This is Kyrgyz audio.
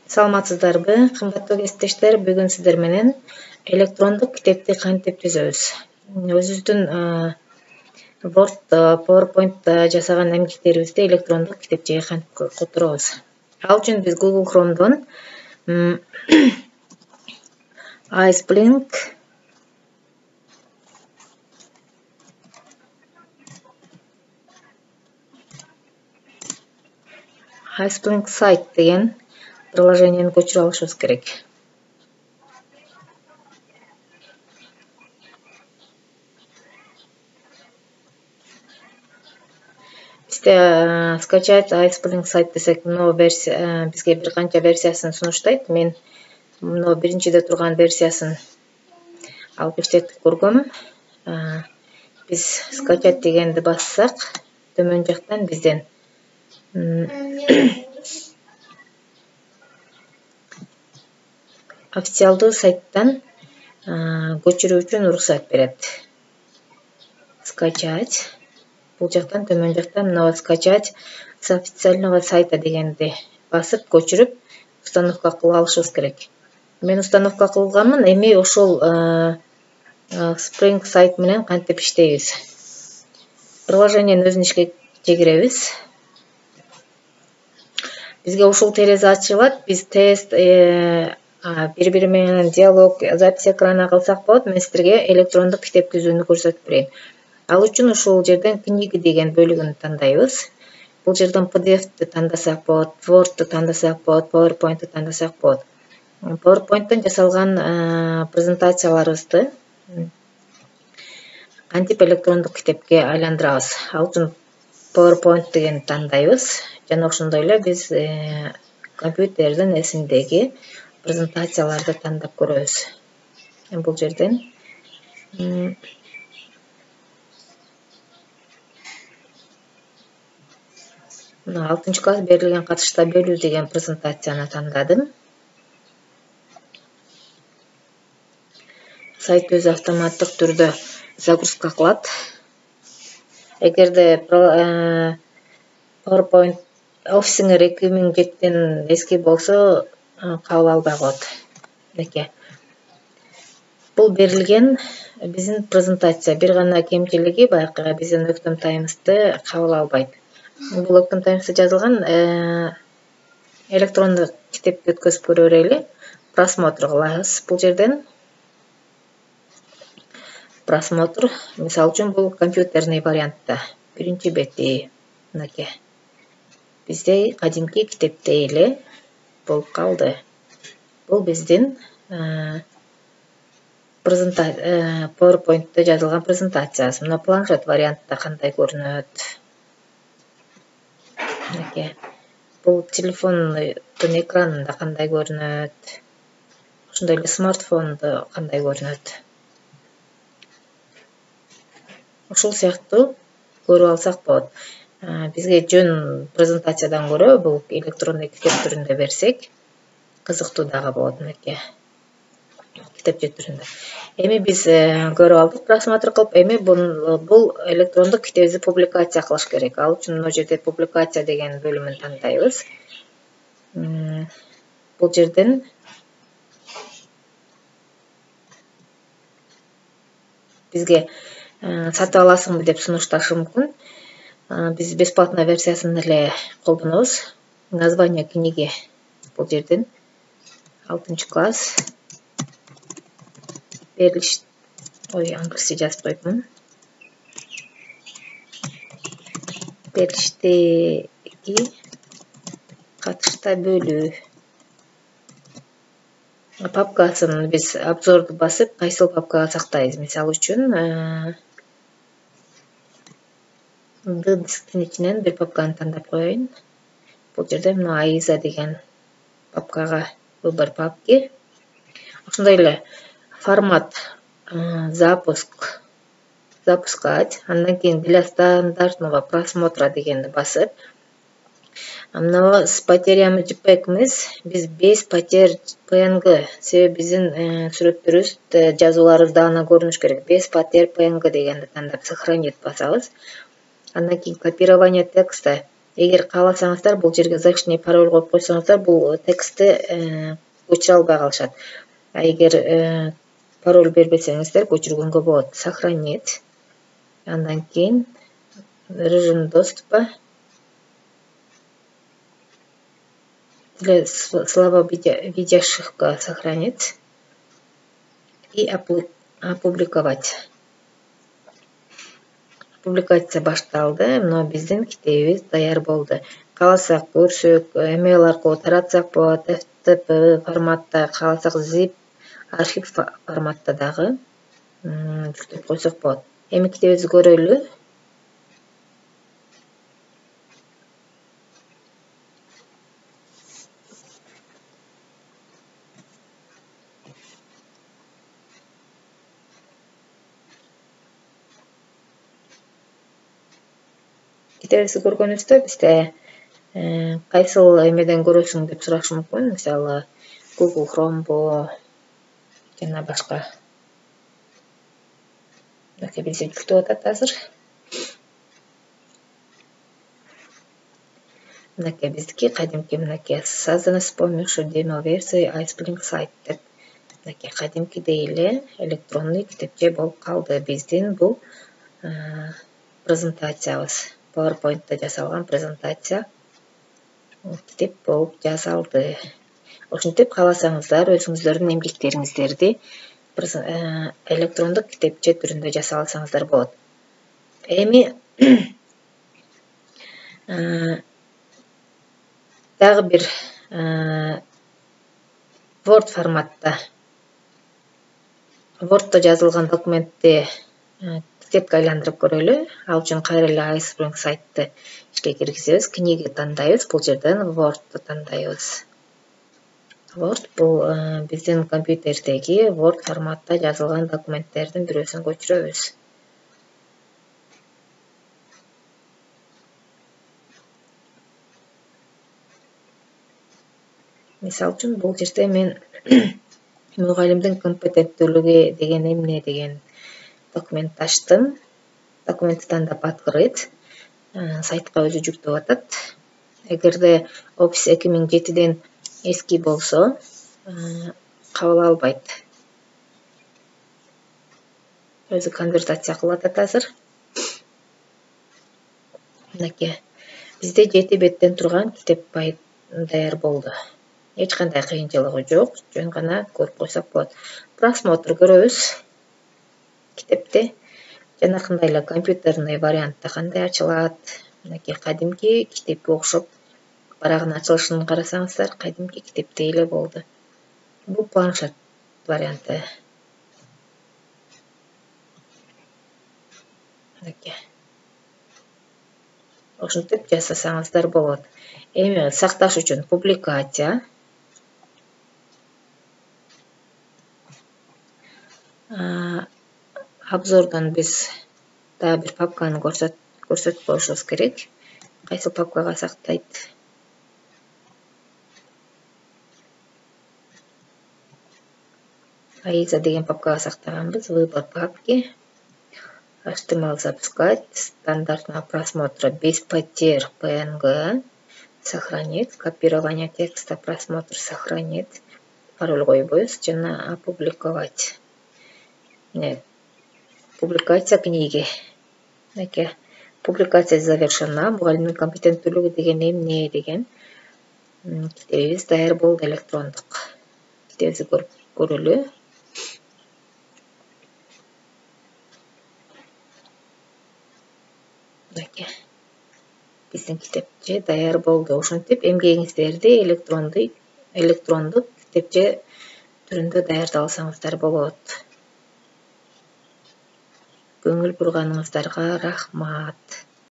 Саламатсыздарбы, кымбаттуу кесиптештер? Бүгүн сиздер менен электрондук китепти кантип түзөбүз? Өзүбүздүн Word, PowerPoint жасаган эмгектерибизди электрондук китепчеге кантип которобуз? Ал үчүн биз Google Chrome'дон iSpring сайт деген приложениени көчүрүп алышыбыз керек. Бизде скачать iSpring сайт десек, мына версия бизге бир канча версиясын сунуштайт. Мен мына биринчиде турган версиясын алып иштетип көргөм. Биз скачать дегенди бассак, төмөн жактан бизден официалдуу сайттан көчүрүү үчүн уруксат берет. Скачать. Бул жактан төмөн жактан мына скачать с официального сайта дегенди басып көчүрүп установка кылып алышыбыз керек. Мен установка кылганмын, эми ошол Spring сайт менен кантип иштейбиз? Приложениенин өзүн ишке киребиз. Бизге ушул терезе ачылат. Биз тест бири-бири менен диалог, запись экрана кылсак болот. Мен сиздерге электрондук китеп түзүүнү көрсөтүп берейин. Ал үчүн ушул жерден книги деген бөлүгүн тандайбыз. Бул жерден PDF-ти тандасак болот, Word-ту тандасак болот, PowerPoint-ту тандасак болот. PowerPoint-тон жасалган презентацияларыбызды кантип электрондук китепке айландырабыз? Ал үчүн PowerPoint дегенди тандайбыз. Жана ошондой эле биз компьютердин эсиндеги презентацияларды тандап көрөбүз. Бул жерден мына 6-класс берилген катышта бөлүү деген презентацияны тандадым. Сайт өзү автоматтык түрдө загрузка кылат. Эгерде PowerPoint офисиңер 2007-ден эски болсо, кабыл албай коет. Мынакей. Бул берилген биздин презентация. Бир гана кемчилиги баягы биздин Octane Times'ты кабыл албайт. Бул Octane Times'та жазылган электрондук китепти өткөзүп көрө берели. Просмотр кылабыз. Бул жерден просмотр, мисалы үчүн бул компьютерный вариантта. Биринчи бети мынакей. Бизде кадимки китептей эле болуп калды. Бул биздин PowerPoint'те жазылган презентациясы. Мына планшет вариантта кандай көрүнөт? Мынакей. Бул телефондун экранында кандай көрүнөт? Ошондой эле смартфондо кандай көрүнөт? Ушул сыяктуу көрүп алсак болот. Бизге жөн презентациядан көрө бул электрондук китеп түрүндө берсек, кызыктуу дагы болот. Мынакей. Китепче түрүндө. Эми биз көрүп алдык просмотр кылып, эми бул электрондук китебибизди публикация кылыш керек. Ал үчүн мына жерде публикация деген бөлүмүн тандайбыз. Бул жерден бизге сатып аласыңбы деп сунушташы мүмкүн. Биз бесплатный версиясын эле колдонобуз. Название книги бул жерден 6-класс берилиш. Англисче жазып койдум. Берилиштеги катышта бөлүү. Папкасын биз обзорду басып, кайсыл папкага сактайбыз? Мисалы үчүн дисктин ичинен бир папканы тандап коеюн. Бул жерде мына Аиза деген папкага выбор папки. Ошондой эле формат запускать. Андан кийин для стандартного просмотра дегенди басып, мына с потерями JPEG эмес, биз без потерь PNG. Себеби биздин сүрөттөрүбүз, жазууларыбыз даана көрүнүш керек. Без потерь PNG дегенди тандап сохранить басабыз. Андан кийин копирование текста. Эгер кааласаңыздар бул жерге защитный пароль коюп койсоңуздар, бул текстти көчүрө албай калышат. А эгер пароль бербесеңиздер көчүргөнгө болот. Сохранить. Андан кийин режим доступа. Для слова видящих сохранить и опубликовать. Публикация башталды. Мына биздин китебибиз даяр болду. Кааласак көрсөк, email аркылуу таратсак болот, FTP форматта, кааласак zip архив форматта дагы жүктөп койсок болот. Эми китебибизди көрөлү. Китебибизди көргөнүбүздө бизде кайсыл эмеден көрөсүң деп сурашы мүмкүн. Мисалы, Google Chrome'бу жана башка. Мынакей бизде жүктөп атат азыр. Мынакей биздики кадимки мынакей созданы с помощью демо-версии iSpring сайт деп. Мынакей кадимкидей эле электронный китепче болуп калды. Биздин бул презентациябыз. PowerPoint'та жасалган презентация китеп болуп жасалды. Ошентип кааласаңыздар өзүңүздөрдүн эмгектериңиздерди электрондук китепче түрүндө жасап алсаңыздар болот. Эми дагы бир Word форматта Word'то жазылган документти китепке айландырып көрөлү. Ал үчүн кайра эле iSpring сайтты ишке киргизебиз. Книга тандайбыз. Бул жерден Word'ду тандайбыз. Word бул биздин компьютердеги Word форматта жазылган документтердин бирөөсүн көчүрөбүз. Мисалы үчүн бул жерде мен мугалимдин компетенттүүлүгү деген эмне деген документ ачтым. Документти тандап открыть. Сайтка өзү жүктөп атат. Эгерде Office 2007ден эски болсо, кабыл албайт. Өзү конвертация кылып атат азыр. Мынакей бизде 7 беттен турган китеп даяр болду. Эч кандай кыйынчылыгы жок, жөн гана көрүп койсок болот. Просмотр көрөбүз. Китепти жанакындай эле компьютерный вариантта кандай ачылат. Мынакей кадимки китепке окшоп барагын ачылышын карасаңыздар, кадимки китептей эле болду. Бул планшет варианты. Мынакей. Ошентип жасасаңыздар болот. Эми сакташ үчүн публикация. Обзордон биз дагы бир папканы көрсөтүп коюшубуз керек. Кайсы папкага сактайт? AISA деген папкага сактаганбыз. Выбор папки. HTML запускать. Стандартного просмотра без потерь PNG. Сохранить. Копирование текста. Просмотр сохранить. Пароль койбойбуз жана опубликовать. Публикация книги. Мынакей публикация завершена. Мугалимдин компетенттүүлүгү деген эмне деген китебибиз даяр болду электрондук. Китебибизди көрөлү. Мынакей биздин китепче даяр болду. Ошентип эмгегиңиздерди электрондук китепче түрүндө даярдап алсаңыздар болот. Көңүл бурганыңыздарга рахмат.